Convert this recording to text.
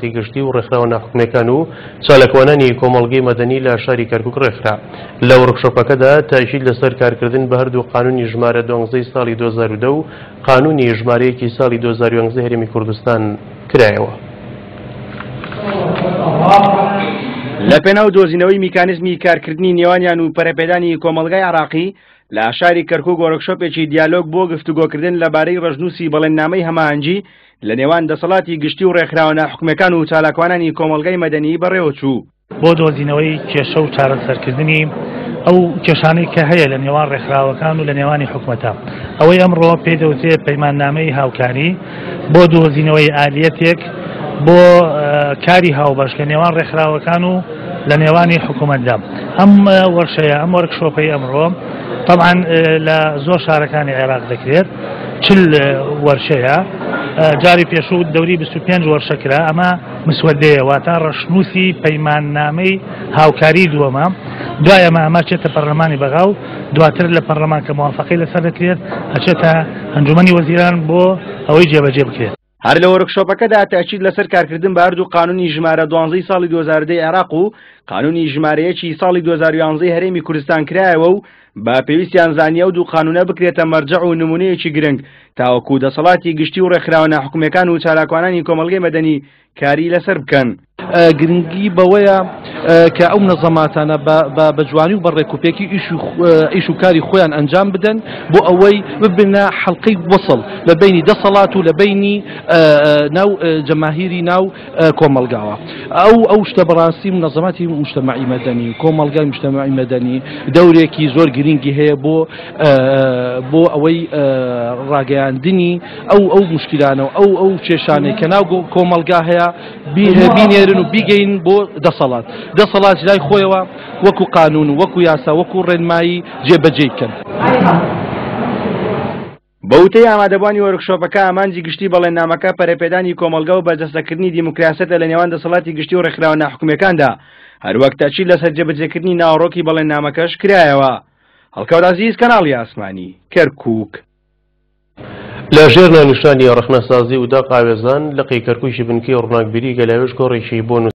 گشتی و ڕێکخراوە ناحکومیەکان و چالاکوانانی کۆمەڵگەی مەدەنی لە شاری کەرکوک ڕێکخرا. لە وۆرکشۆپەکەدا تاکید لەسەر کارکردن بە هەردوو قانونی ژمارە دوانزەی ساڵی 2010 و قانونی ژمارە یەکی ساڵی 2011 هەرێمی کوردستان کرایەوە. لە پێناو دۆزینەوەی میکانیزمی کارکردنی نێوانیان و پەرەپێدانی کۆمەڵگای عێراقی لە شاری کەرکوک وۆرکشۆپێکی دیالۆگ بۆ گفتوگۆکردن لەبارەی ڕەشنووسی بەڵێننامەی هەماهەنگی لە نێوان دەسەڵاتی گشتی و ڕێکخراوە ناحکومیەکان و چالاکوانانی کۆمەڵگای مەدەنی بەڕێوەچوو. بۆ دۆزینەوەی کێشە و چارەسەرکردنی ئەو کێشانەی کە هەیە لە نێوان ڕێکخراوەکان و لە نێوانی حکومەتە، ئەوەی ئەمڕۆ پێی دەوترێت پەیماننامەی هاوکاری بۆ دۆزینەوەی ئالیەتێک بۆ کاری هاوبەش لە نێوان ڕێکخراوەکان و لە نێوانی حکوومەتدا. ئەم وەرشەیە، ئەم وەرکشۆپەی ئەمڕۆ طبعا لە زۆر شارەکانی عێراق دەکرێت، 40 وەرشەیە، جاری پێشوو دەوری 25 وەرشە کرا. ئەمە مسوەدەیە، واتە ڕەشنووسی پەیماننامەی هاوکاری دووەمە. دوای ئەمە ئەمە چێتە پەرلەمانی بەغا و دواتر لە پەرلەمان کە موافقەی لەسەر دەکرێت ئەچێتە ئەنجومەنی وەزیران بۆ ئەوەی جێبەجێ بکرێت. هەر لە وۆرکشۆپەکەدا تەئکید لەسەر کارکردن بە هەردوو قانونی ژمارە دوانزەی ساڵی 2010 عێراق و قانونی ژمارە یەکی ساڵی 2011 هەرێمی کوردستان کرایەوە و بە پێویستیان زانی ئەو دوو قانونە بکرێتە مەرجەع و نمونەیەکی گرنگ تاوەکو دەسەڵاتی گشتی و ڕێکخراوە ناحکومیەکان و چالاکوانانی کۆمەڵگەی مەدەنی کاری لەسەر بکەن. گرنگی بەوەیە کە ئەو منەزەماتانە بە جوانی و بە ڕێکوپێکی ئیش و کاری خۆیان ئەنجام بدەن بۆ ئەوەی ببنە حەڵقەی وەسڵ لە بینی دەسەڵات و لە بینی ناو جەماهیری ناو کۆمەڵگاوە. ئەو ئەو شتە بەڕاستی منەزەماتی مجتەمەعی مەدەنی و کۆمەڵگای مجتەمەعی مەدەنی دەورێکی زۆر گرنگی هەیە بۆ بۆ ئەوەی ڕاگەیاندنی ئەو ئەو مشکلانە و ئەو ئەو کێشانەی کە ناو کۆمەڵگا هەیە بینێرن و بیگەین بۆ دەسەڵات، دەسەڵات لای خۆیەوە وەکو قانون و وەکو یاسا وەکو ڕێنمایی جێبەجێی بکەن. بە وتەی ئامادەبووانی وۆرکشۆپەکە، ئامانجی گشتی بەڵێننامەکە پەرەپێدانی کۆمەڵگە و بەرجەستەکردنی دیموکراسیەتە لە نێوان دەسەڵاتی گشتی و ڕێکخراوە ناحکومییەکاندا، هەروەک تەئکید لەسەر جێبەجێکردنی ناوەڕۆکی بەڵێننامەکەش کرایەوە. هەڵکەوت عەزیز، کەناڵی ئاسمانی، کەرکووک. لە ژێر ناونیشانی ڕەخنەسازی و داق ئاوێزان، لقی کەرکووکی بنکەی ڕووناکبیری گەلاوێژ کۆڕێکی بۆ.